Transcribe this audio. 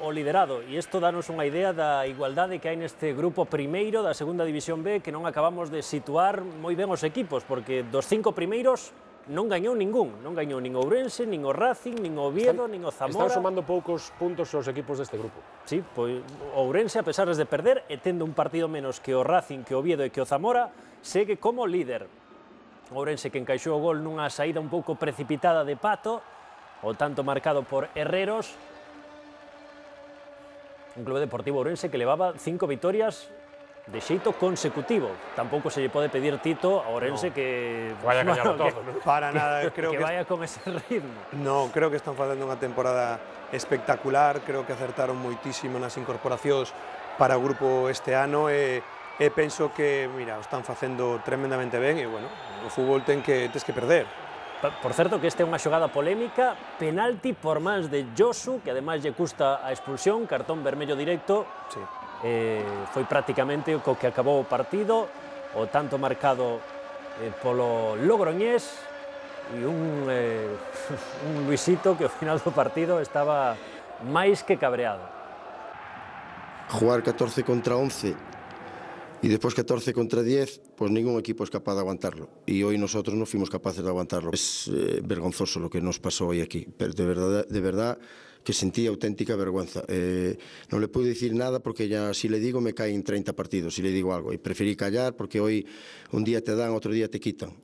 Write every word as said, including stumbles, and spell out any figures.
o liderado, e isto danos unha idea da igualdade que hai neste grupo primeiro da segunda división B, que non acabamos de situar moi ben os equipos, porque dos cinco primeiros non gañou ningún, non gañou nin Ourense, nin o Racing, nin o Oviedo, Están, nin o Zamora. Están sumando poucos puntos os equipos deste grupo. Sí, pois o Ourense, a pesar de perder, e tendo un partido menos que o Racing, que o Oviedo e que o Zamora, segue como líder. O Ourense que encaixou o gol nunha saída un pouco precipitada de Pato, o tanto marcado por Herreros. Un clube deportivo ourense que levaba cinco vitorias de xeito consecutivo. Tampouco se lle pode pedir Tito a Ourense no, que vaya a gañarlo bueno, todo, que, ¿no? Para nada, creo que, que que vaya con ese ritmo. No, creo que están facendo unha temporada espectacular, creo que acertaron moitísimo nas incorporacións para o grupo este ano e, e penso que, mira, o están facendo tremendamente ben e, bueno, o fútbol ten que, tes que perder. Por certo, que esta é unha xogada polémica, penalti por mans de Josu, que ademais lle custa a expulsión, cartón vermello directo. Sí. Eh, foi prácticamente co que acabou o partido, o tanto marcado eh, polo Logroñés e un, eh, un Luisito que ao final do partido estaba máis que cabreado. Jugar catorce contra once e despois catorce contra diez, pues ningún equipo es capaz de aguantarlo. Y hoy nosotros no fuimos capaces de aguantarlo. Es eh, vergonzoso lo que nos pasó hoy aquí. Pero de verdad, de verdad que sentí auténtica vergüenza. Eh, no le puedo decir nada porque ya si le digo me caen treinta partidos, si le digo algo. Y preferí callar porque hoy un día te dan, otro día te quitan.